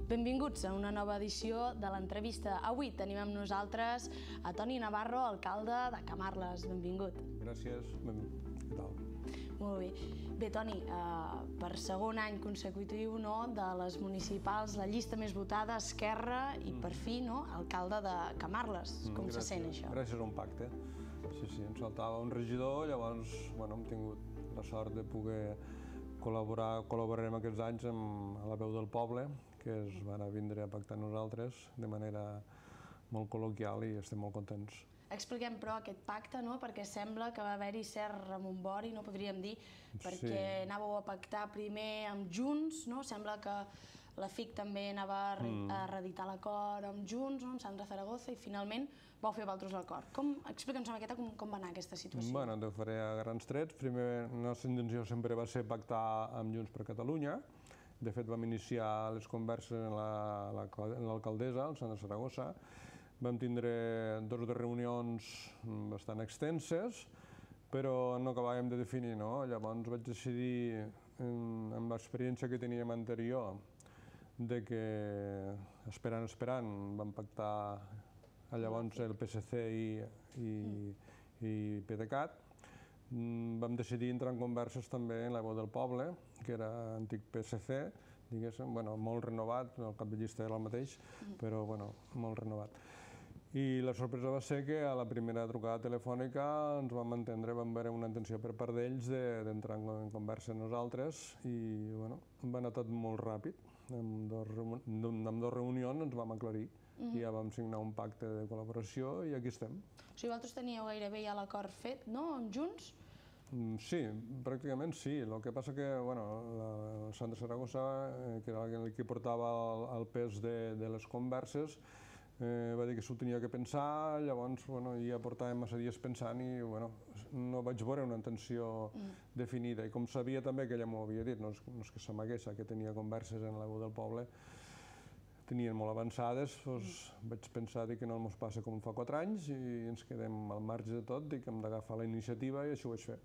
Benvinguts a una nova edició de l'entrevista. Avui tenim amb nosaltres a Toni Navarro, alcalde de Camarles. Benvingut. Gràcies. Què tal? Molt bé. Bé, Toni, per segon any consecutiu de les municipals, la llista més votada, Esquerra, i per fi alcalde de Camarles. Com se sent això? Gràcies a un pacte. Sí, ens faltava un regidor, llavors hem tingut la sort de poder col·laborarem aquests anys amb la veu del poble, que es van vindre a pactar amb nosaltres de manera molt col·loquial i estem molt contents. Expliquem, però, aquest pacte, perquè sembla que va haver-hi cert remombori, podríem dir, perquè anàveu a pactar primer amb Junts, sembla que la FIC també anava a reeditar l'acord amb Junts, amb Sandra Zaragoza, i finalment vau fer vosaltres l'acord. Explica'ns una miqueta com va anar aquesta situació. Bé, t'ho faré a grans trets. Primer, la nostra intenció sempre va ser pactar amb Junts per Catalunya. De fet, vam iniciar les converses amb l'alcaldessa, el Sandra Zaragoza. Vam tindre dues reunions bastant extenses, però no acabàvem de definir, Llavors vaig decidir, amb l'experiència que teníem anterior, de que, esperant, vam pactar llavors el PSC i PDeCAT. Vam decidir entrar en converses també en la veu del poble, que era antic PSC, diguéssim, molt renovat, el cap de llista era el mateix, però molt renovat. I la sorpresa va ser que a la primera trucada telefònica ens vam entendre, vam veure una intenció per part d'ells d'entrar en conversa amb nosaltres i va anar tot molt ràpid. En dues reunions ens vam aclarir i ja vam signar un pacte de col·laboració i aquí estem. O sigui, vosaltres teníeu gairebé ja l'acord fet, amb Junts? Sí, pràcticament sí. El que passa que la Sandra Zaragoza, que era el que portava el pes de les converses, va dir que s'ho tenia que pensar, llavors ja portàvem massa dies pensant i no vaig veure una intenció definida. I com sabia també que ella m'ho havia dit, no és que s'amagués, que tenia converses en la veu del poble, tenien molt avançades, vaig pensar que no ens passa com fa 4 anys i ens quedem al marge de tot, que hem d'agafar la iniciativa i això ho vaig fer.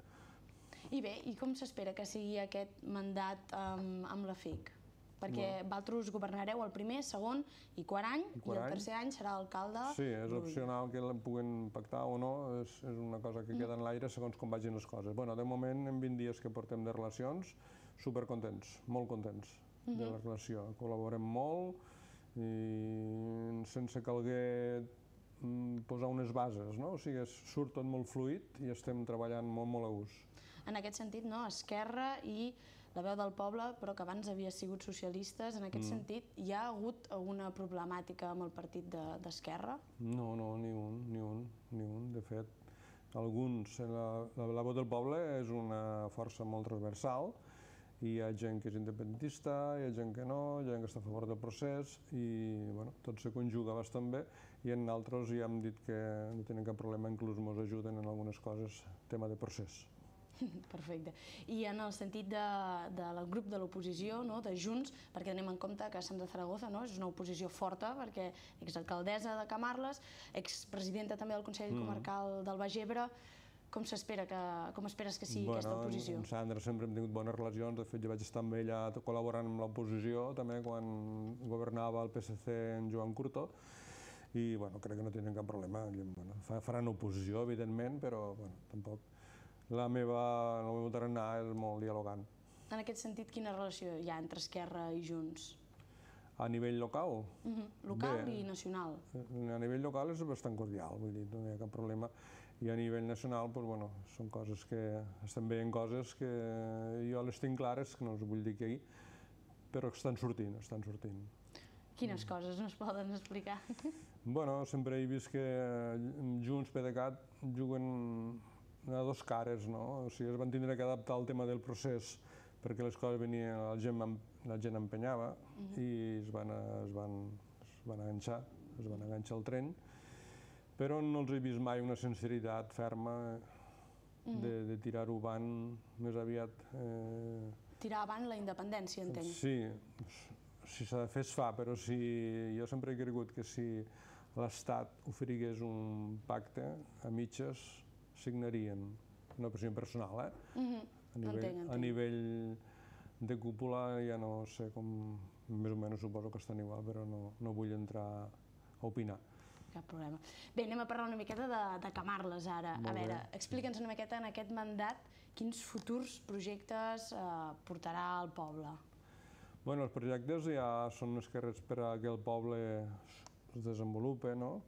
I bé, i com s'espera que sigui aquest mandat amb la FIC? Perquè vosaltres governareu el primer, segon i quart any, i el tercer any serà alcalde. Sí, és opcional que el puguin pactar o no, és una cosa que queda en l'aire segons com vagin les coses. De moment, en 20 dies que portem de relacions, supercontents, molt contents de la relació. Col·laborem molt i sense calguer posar unes bases, o sigui, surt tot molt fluid i estem treballant molt a gust. En aquest sentit, Esquerra i la veu del poble, però que abans havia sigut socialistes, en aquest sentit, hi ha hagut alguna problemàtica amb el partit d'Esquerra? No, ni un. De fet, alguns, la veu del poble és una força molt transversal, hi ha gent que és independentista, hi ha gent que no, hi ha gent que està a favor del procés i tot se conjuga bastant bé i en altres ja hem dit que no tenen cap problema, inclús ens ajuden en algunes coses, tema de procés. Perfecte. I en el sentit del grup de l'oposició, de Junts, perquè tenim en compte que Sandra Zaragoza és una oposició forta, perquè exalcaldessa de Camarles, expresidenta també del Consell Comarcal del Baix Ebre, com esperes que sigui aquesta oposició? Amb Sandra sempre hem tingut bones relacions, de fet jo vaig estar amb ella col·laborant amb l'oposició, també quan governava el PSC en Joan Curto, i crec que no tenen cap problema. Faran oposició, evidentment, però tampoc. La meva tarannà és molt dialogant. En aquest sentit, quina relació hi ha entre Esquerra i Junts? A nivell local? Local i nacional. A nivell local és bastant cordial, vull dir, no hi ha cap problema. I a nivell nacional, són coses que estan veient coses que jo les tinc clares, que no us vull dir que però estan sortint. Quines coses no es poden explicar? Sempre he vist que Junts, PDeCAT, juguen a dos cares, o sigui, es van tindre que adaptar al tema del procés perquè les coses venien, la gent empenyava i es van enganxar al tren, però no els he vist mai una sinceritat ferma de tirar-ho avant més aviat. Tirar avant la independència, entenc. Sí, si s'ha de fer es fa, però jo sempre he cregut que si l'Estat oferigués un pacte a mitges signarien, una opció personal, a nivell de cúpula ja no sé com, més o menys suposo que estan igual, però no vull entrar a opinar. Cap problema. Bé, anem a parlar una miqueta de Camarles ara. A veure, explica'ns una miqueta en aquest mandat quins futurs projectes portarà al poble. Bé, els projectes ja són més que res per a que el poble es desenvolupi, no?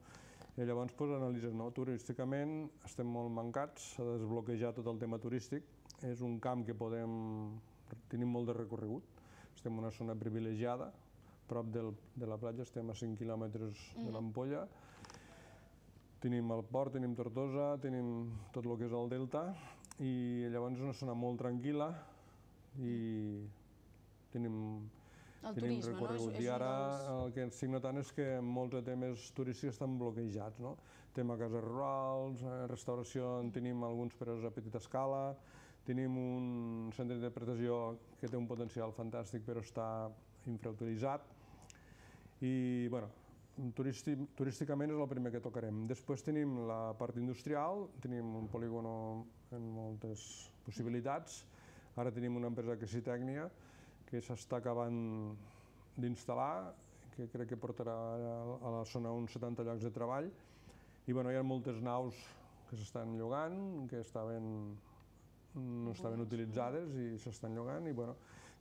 I llavors analitzes, no? Turísticament estem molt mancats, s'ha de desbloquejar tot el tema turístic. És un camp que tenim molt de recorregut. Estem en una zona privilegiada, prop de la platja, estem a 5 quilòmetres de l'Ampolla. Tenim el port, tenim Tortosa, tenim tot el que és el delta, i llavors és una zona molt tranquil·la i tenim recorregut. I ara el que estic notant és que molts temes turístics estan bloquejats, no? Tema cases rurals, restauració, en tenim alguns però a petita escala, tenim un centre d'interpretació que té un potencial fantàstic però està infrautilitzat i, bueno, turísticament és el primer que tocarem. Després tenim la part industrial, tenim un polígon amb moltes possibilitats. Ara tenim una empresa que és Citècnia, que s'està acabant d'instal·lar, que crec que portarà a la zona uns 70 llocs de treball. I hi ha moltes naus que s'estan llogant, que no estaven utilitzades i s'estan llogant. I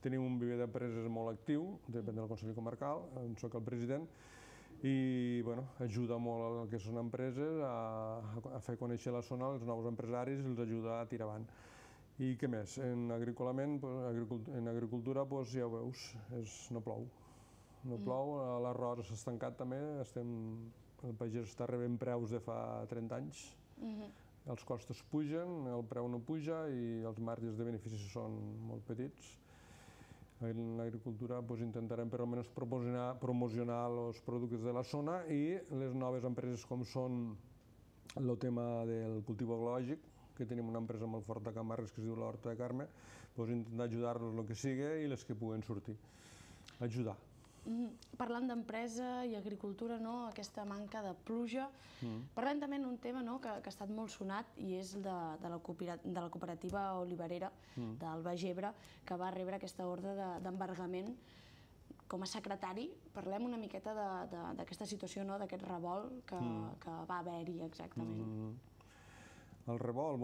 tenim un viver d'empreses molt actiu, depèn del Consell Comarcal, on soc el president, i ajuda molt el que són empreses a fer conèixer la zona als nous empresaris i els ajuda a tirar avant. I què més? En agricultura ja ho veus, no plou. No plou, l'arròs s'ha estancat també, el pagès està rebent preus de fa 30 anys, els costos pugen, el preu no puja i els marges de benefici són molt petits. En l'agricultura intentarem per almenys promocionar els productes de la zona i les noves empreses com són el tema del cultiu ecològic, que tenim una empresa molt forta a Camarles que es diu l'Horta de Carme, intentar ajudar-los el que sigui i les que puguen sortir. Ajudar. Parlant d'empresa i agricultura, aquesta manca de pluja, parlem també d'un tema que ha estat molt sonat i és de la cooperativa oliverera del Baix Ebre, que va rebre aquesta ordre d'embargament. Com a secretari, parlem una miqueta d'aquesta situació, d'aquest revolt que va haver-hi exactament. El revolt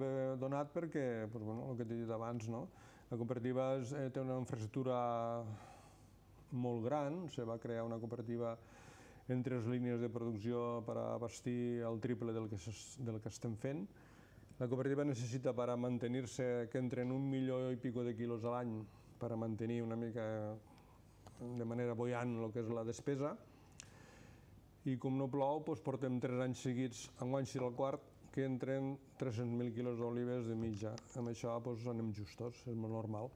ve donat perquè, el que t'he dit abans, la cooperativa té una infraestructura molt gran, se va crear una cooperativa en 3 línies de producció per abastir el triple del que estem fent. La cooperativa necessita per a mantenir-se que entren 1 milió i pico de quilos a l'any per a mantenir una mica de manera buoyant el que és la despesa. I com no plou, portem 3 anys seguits, enguany serà el quart, que entren 300.000 quilos d'olives de mitja. Amb això anem justos, és molt normal.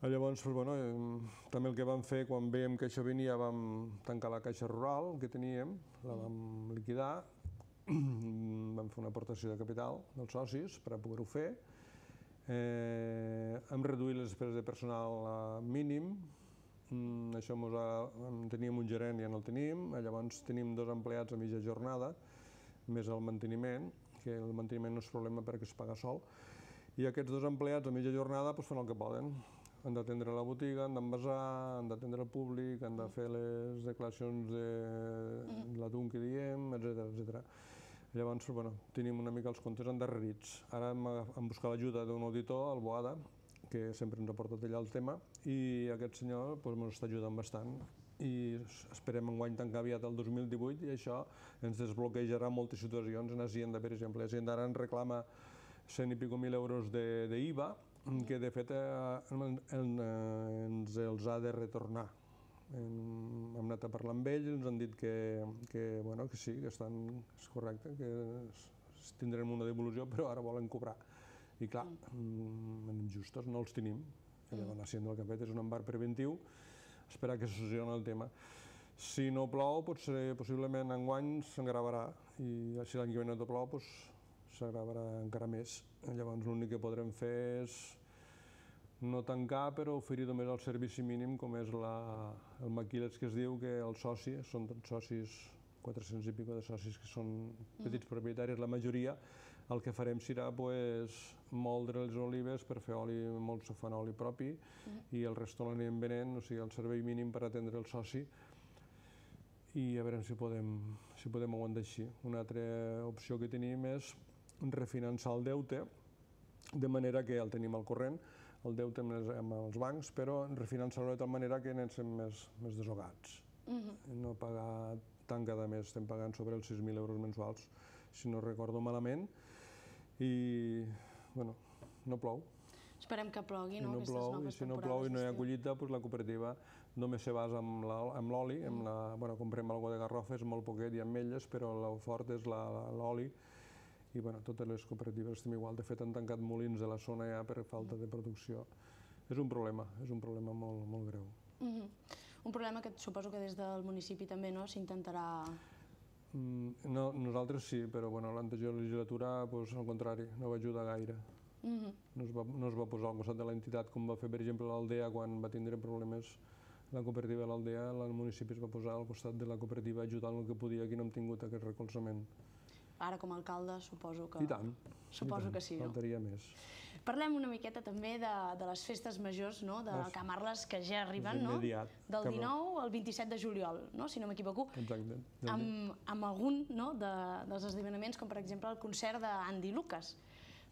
Llavors, també el que vam fer, quan veiem que això venia, vam tancar la caixa rural que teníem, la vam liquidar, vam fer una aportació de capital dels socis per a poder-ho fer, hem reduït les despeses de personal a mínim, això teníem un gerent i ja no el tenim, llavors tenim 2 empleats a mitja jornada, més el manteniment, que el manteniment no és problema perquè es paga sol, i aquests 2 empleats a mitja jornada fan el que poden. Han d'atendre la botiga, han d'envasar, han d'atendre el públic, han de fer les declaracions de l'atún que diem, etc. Llavors, tenim una mica els comptes endarrerits. Ara hem buscat l'ajuda d'un auditor, el Boada, que sempre ens ha portat allà el tema, i aquest senyor ens està ajudant bastant. I esperem enguany tancar aviat el 2018 i això ens desbloquejarà moltes situacions. En Hacienda, per exemple, Hacienda ara ens reclama 100 i pico mil euros d'IVA, que de fet ens els ha de retornar. Hem anat a parlar amb ells, ens han dit que sí, que és correcte, que tindrem una devolució, però ara volen cobrar. I clar, anem justos, no els tenim. Llavors l'Hacienda el que ha fet és un embarg preventiu, esperar que se solucioni el tema. Si no plou, possiblement enguany s'engravarà, i si l'any que ve no plou, s'agravarà encara més. Llavors l'únic que podrem fer és no tancar, però oferir només el servici mínim, com és el maquilets que es diu, que els socis, són tots socis, 400 i pico de socis que són petits propietaris, la majoria, El que farem serà moldre les olives per fer oli, molts fan oli propi, i el resto l'anirem venent, o sigui, el servei mínim per atendre el soci, i a veure si podem aguantar així. Una altra opció que tenim és refinançar el deute, de manera que el tenim al corrent, el deute amb els bancs, però refinançar-lo de tal manera que anem més desogats. No pagar tant cada mes, estem pagant sobre els 6.000 euros mensuals, si no recordo malament, i, bueno, no plou. Esperem que plogui, no? Si no plou i no hi ha collita, la cooperativa només se basa en l'oli, comprem alguna de garrofa, és molt poquet, i ametlles, però el fort és l'oli, i totes les cooperatives estem igual. De fet, han tancat molins de la zona ja per falta de producció. És un problema molt greu. Un problema que suposo que des del municipi també s'intentarà... No, nosaltres sí, però l'anterior legislatura, al contrari, no va ajudar gaire. No es va posar al costat de l'entitat, com va fer, per exemple, l'Aldea, quan va tindre problemes la cooperativa de l'Aldea, el municipi es va posar al costat de la cooperativa ajudant el que podia, aquí no hem tingut aquest recolzament. Ara, com a alcalde, suposo que... I tant. Suposo que sí, no? Faltaria més. Parlem una miqueta també de les festes majors, de Camarles, que ja arriben, no? Del 19 al 27 de juliol, si no m'equivoco. Exacte. Amb algun dels esdeveniments, com per exemple el concert d'Andy Lucas.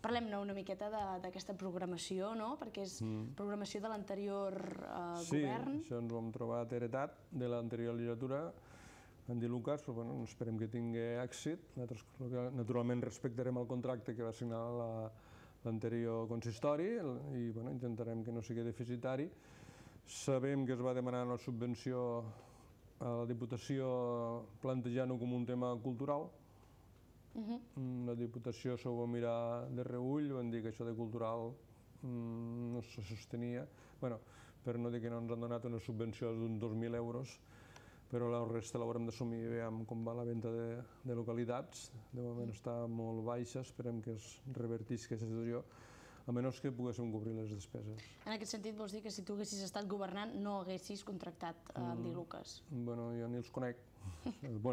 Parlem-ne una miqueta d'aquesta programació, perquè és programació de l'anterior govern. Sí, això ens ho hem trobat heretat de l'anterior legislatura. Andy Lucas, esperem que tingui èxit. Nosaltres, naturalment, respectarem el contracte que va signar l'anterior consistori i intentarem que no sigui deficitari. Sabem que es va demanar una subvenció a la Diputació plantejant-ho com un tema cultural. La Diputació s'ho va mirar de reüll, van dir que això de cultural no se sostenia, per no dir que no ens han donat una subvenció d'uns 2.000 euros, però la resta l'haurem d'assumir i veiem com va la venda de localitats. De moment està molt baixa, esperem que es revertisca aquesta situació, a menys que poguéssim cobrir les despeses. En aquest sentit, vols dir que si tu haguessis estat governant no haguessis contractat Andy Lucas? Jo ni els conec.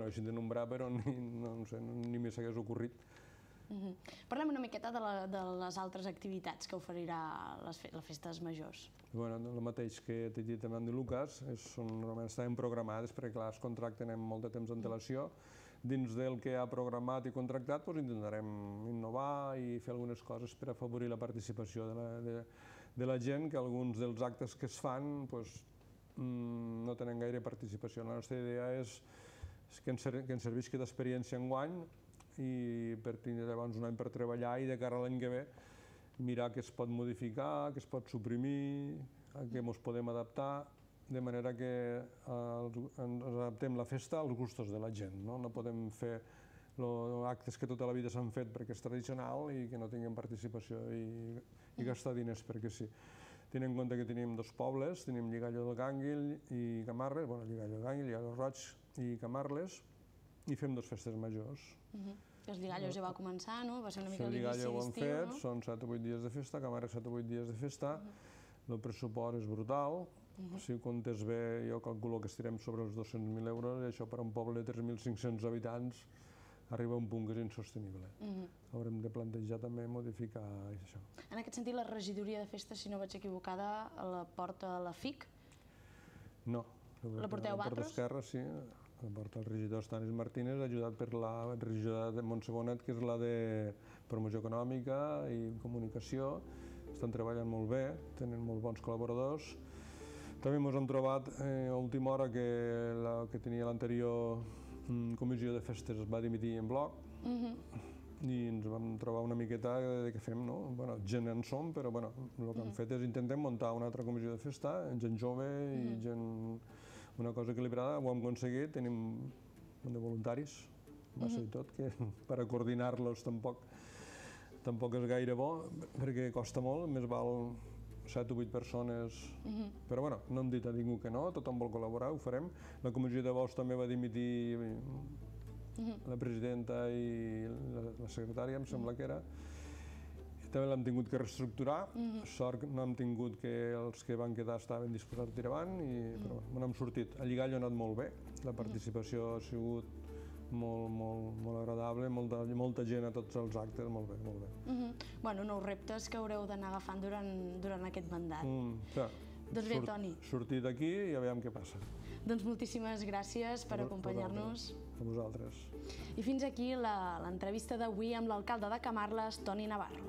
Així de nombrar, però ni m'hi s'hagués ocorrit. Parlem una miqueta de les altres activitats que oferirà les festes majors. El mateix que t'he dit amb Andy Lucas, normalment estaven programades perquè clar, es contracten amb molt de temps d'antelació. Dins del que ha programat i contractat intentarem innovar i fer algunes coses per afavorir la participació de la gent, que alguns dels actes que es fan no tenen gaire participació. La nostra idea és que ens servisqui d'experiència enguany i per tindre llavors un any per treballar i de cara a l'any que ve mirar què es pot modificar, què es pot suprimir, a què ens podem adaptar, de manera que ens adaptem la festa als gustos de la gent. No podem fer actes que tota la vida s'han fet perquè és tradicional i que no tinguem participació i gastar diners perquè sí. Tenint en compte que tenim dos pobles, tenim Lligallo del Gànguil i Camarles, Lligallo del Gànguil, Lligallo Roig i Camarles, i fem dues festes majors. Els Lligallos ja va començar, no? Va ser una mica l'inici d'estiu, no? El Lligallo ho hem fet, són 7 o 8 dies de festa, Camarles 7 o 8 dies de festa, el pressupost és brutal, si ho comptes bé jo calculo que estirem sobre els 200.000 euros i això per a un poble de 3.500 habitants arriba a un punt que és insostenible. Haurem de plantejar també modificar això. En aquest sentit, la regidoria de festes, si no vaig equivocada, la porta la FIC? No. La porteu vosaltres? La porta esquerra, sí. La porta el regidor Stanis Martínez, ajudat per la regidora de Montsegonet, que és la de promoció econòmica i comunicació. Estan treballant molt bé, tenen molt bons col·laboradors. També ens hem trobat a última hora que la que tenia l'anterior comissió de festes es va dimitir en bloc i ens vam trobar una miqueta de què fem, no? Gent en som, però el que hem fet és intentem muntar una altra comissió de festa, gent jove i gent... una cosa equilibrada, ho hem aconseguit, tenim de voluntaris, massa i tot, que per a coordinar-los tampoc és gaire bo, perquè costa molt, més val 7 o 8 persones, però no hem dit a ningú que no, tothom vol col·laborar, ho farem. La comissió de vots també va dimitir la presidenta i la secretària, em sembla que era. També l'hem tingut que reestructurar, sort no hem tingut que els que van quedar estaven disposats a tirar avant, però hem sortit. A Lligallo ha anat molt bé, la participació ha sigut molt agradable, molta gent a tots els actes, molt bé, molt bé. Bueno, nous reptes que haureu d'anar agafant durant aquest mandat. Doncs bé, Toni. Sortir d'aquí i a veure què passa. Doncs moltíssimes gràcies per acompanyar-nos. A vosaltres. I fins aquí l'entrevista d'avui amb l'alcalde de Camarles, Toni Navarro.